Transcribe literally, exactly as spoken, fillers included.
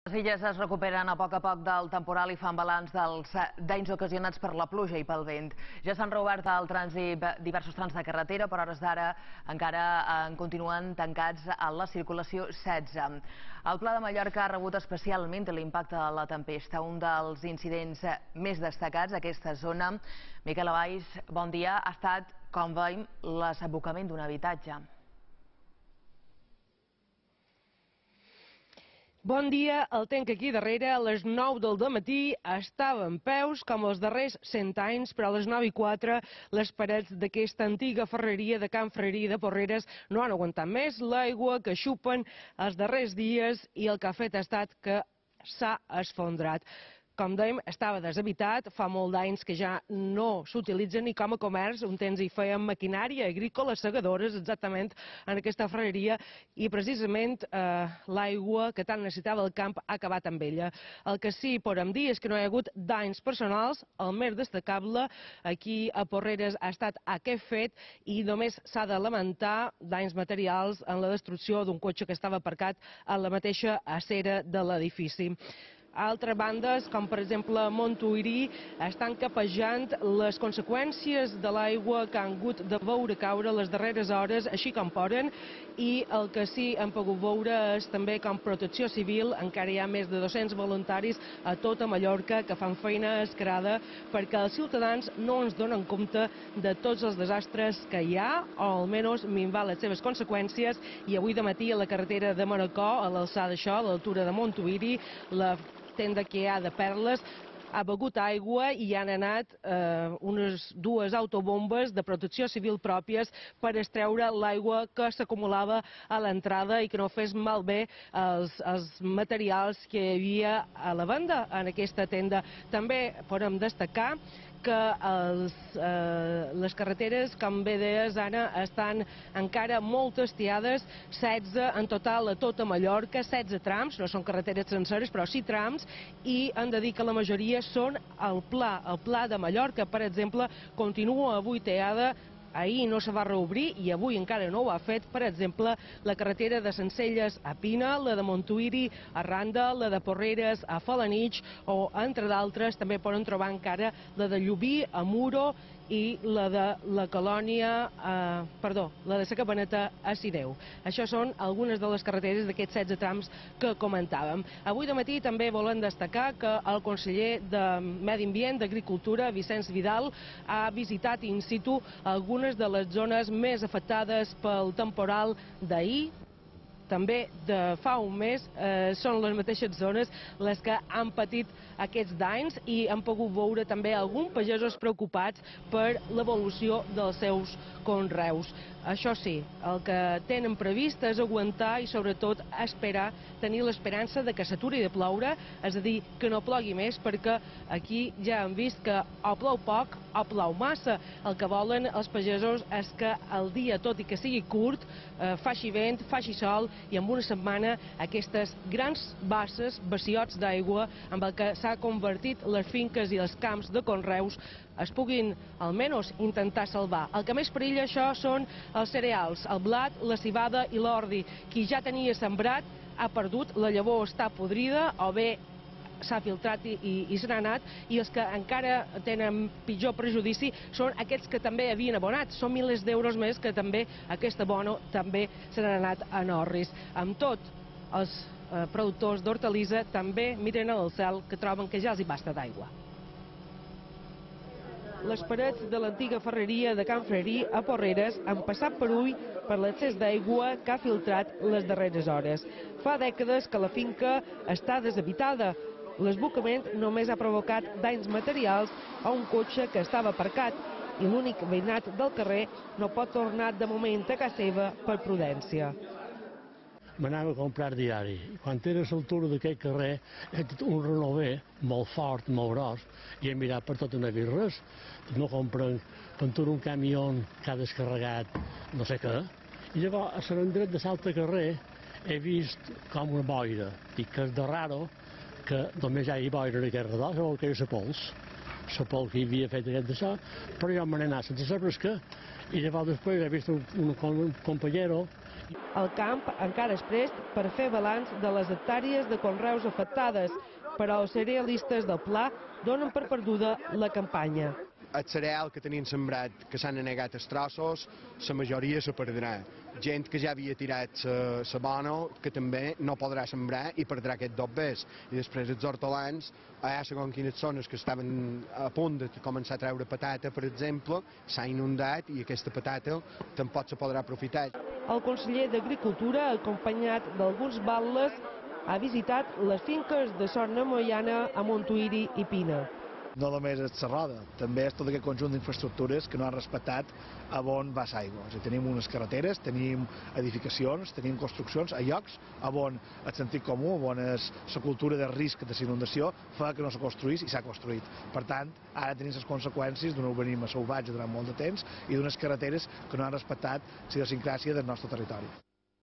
Les illes es recuperen a poc a poc del temporal i fan balanç dels danys ocasionats per la pluja i pel vent. Ja s'han reobert el trànsit diversos trams de carretera, però a hores d'ara encara en continuen tancats a la circulació setze. El Pla de Mallorca ha rebut especialment l'impacte de la tempesta, un dels incidents més destacats d'aquesta zona. Miquel Valls, bon dia. Ha estat, com veiem, l'assabocament d'un habitatge. Bon dia, el tenc aquí darrere, a les nou del dematí estava en peus com els darrers cent anys, però a les nou i quatre les parets d'aquesta antiga ferreria de Can Frerí de Porreres no han aguantat més l'aigua que xupen els darrers dies i el que ha fet ha estat que s'ha esfondrat. Com dèiem, estava deshabitat, fa molt d'anys que ja no s'utilitza ni com a comerç, un temps hi feien maquinària agrícola, segadores, exactament, en aquesta ferreria, i precisament eh, l'aigua que tant necessitava el camp ha acabat amb ella. El que sí podem dir és que no hi ha hagut danys personals, el més destacable aquí a Porreres ha estat aquest fet i només s'ha de lamentar danys materials en la destrucció d'un cotxe que estava aparcat a la mateixa acera de l'edifici. Altres bandes, com per exemple Montuïri, estan capejant les conseqüències de l'aigua que han hagut de veure caure les darreres hores, així com poden, i el que sí hem pogut veure és també com Protecció Civil, encara hi ha més de dos-cents voluntaris a tota Mallorca que fan feina escarada perquè els ciutadans no ens donen compte de tots els desastres que hi ha, o almenys minvar les seves conseqüències, i avui de matí a la carretera de Manacor, a l'alçada d'això, a l'altura de Montuïri, la tenda que hi ha de Perles ha begut aigua i hi han anat eh, unes dues autobombes de protecció civil pròpies per extreure l'aigua que s'acumulava a l'entrada i que no fes malbé els, els materials que hi havia a la venda en aquesta tenda. També podem destacar que els, eh, les carreteres, com bé deies, Anna, estan encara molt estiades, setze en total a tota Mallorca, setze trams, no són carreteres senceres, però sí trams, i han de dir que la majoria són al Pla. El Pla de Mallorca, per exemple, continua avui teada. Ahir no se va reobrir i avui encara no ho ha fet, per exemple, la carretera de Sencelles a Pina, la de Montuïri a Randa, la de Porreres a Felanitx o, entre d'altres, també poden trobar encara la de Llubí a Muro i la de la Colònia, eh, perdó, la de la Cabaneta a Sideu. Això són algunes de les carreteres d'aquests setze trams que comentàvem. Avui de matí també volem destacar que el conseller de Medi Ambient, d'Agricultura, Vicenç Vidal, ha visitat in situ algunes de les zones més afectades pel temporal d'ahir. També de fa un mes eh, són les mateixes zones les que han patit aquests danys i han pogut veure també alguns pagesos preocupats per l'evolució dels seus conreus. Això sí, el que tenen previst és aguantar i sobretot esperar, tenir l'esperança de que s'aturi de ploure, és a dir, que no plogui més, perquè aquí ja hem vist que o plou poc o plou massa. El que volen els pagesos és que el dia, tot i que sigui curt, eh, faci vent, faci sol i en una setmana aquestes grans basses, bassiots d'aigua amb el que s'ha convertit les finques i els camps de conreus es puguin almenys intentar salvar. El que més perilla això són els cereals, el blat, la civada i l'ordi. Qui ja tenia sembrat ha perdut, la llavor està podrida o bé s'ha filtrat i, i, i se n'ha anat, i els que encara tenen pitjor prejudici són aquests que també havien abonat. Són milers d'euros més que també aquest abono també se n'han anat en orris. Amb tot, els eh, productors d'hortalissa també miren al cel, que troben que ja els hi basta d'aigua. Les parets de l'antiga ferreria de Can Frerí a Porreres han passat per ull per l'excés d'aigua que ha filtrat les darreres hores. Fa dècades que la finca està deshabitada. L'esbocament només ha provocat danys materials a un cotxe que estava aparcat i l'únic veïnat del carrer no pot tornar de moment a casa seva per prudència. M'anava a comprar diari. Quan era a l'altura d'aquest carrer, he tingut un renover molt fort, molt gros, i he mirat per tot i no he vist res. No compren, quan un camió que ha descarregat no sé què, i llavors a Sant Andret de l'altre carrer he vist com una boira. Dic que és de raro que només hi hagi boira en aquest redor, sabeu que és la pols. La pols que hi havia fet aquest d'això, però jo me n'he anat sense saber què, i llavors després he vist un, un, un companyero El camp encara és prest per fer balanç de les hectàrees de conreus afectades, però els cerealistes del Pla donen per perduda la campanya. El cereal que tenien sembrat, que s'han anegat els trossos, la majoria se perdrà. Gent que ja havia tirat la bona, que també no podrà sembrar i perdrà aquest dobbers. I després els hortolans, hi ha segons quines zones que estaven a punt de començar a treure patata, per exemple, s'ha inundat i aquesta patata tampoc se podrà aprofitar. El conseller d'Agricultura, acompanyat d'alguns batlles, ha visitat les finques de Son Moiana a Montuïri i Pina. No només és la roda, també és tot aquest conjunt d'infraestructures que no han respectat a on va l'aigua. O sigui, tenim unes carreteres, tenim edificacions, tenim construccions a llocs on el sentit comú, on és la cultura de risc de inundació, fa que no se construís i s'ha construït. Per tant, ara tenim les conseqüències d'un urbanisme salvatge durant molt de temps i d'unes carreteres que no han respectat la idiosincràsia del nostre territori.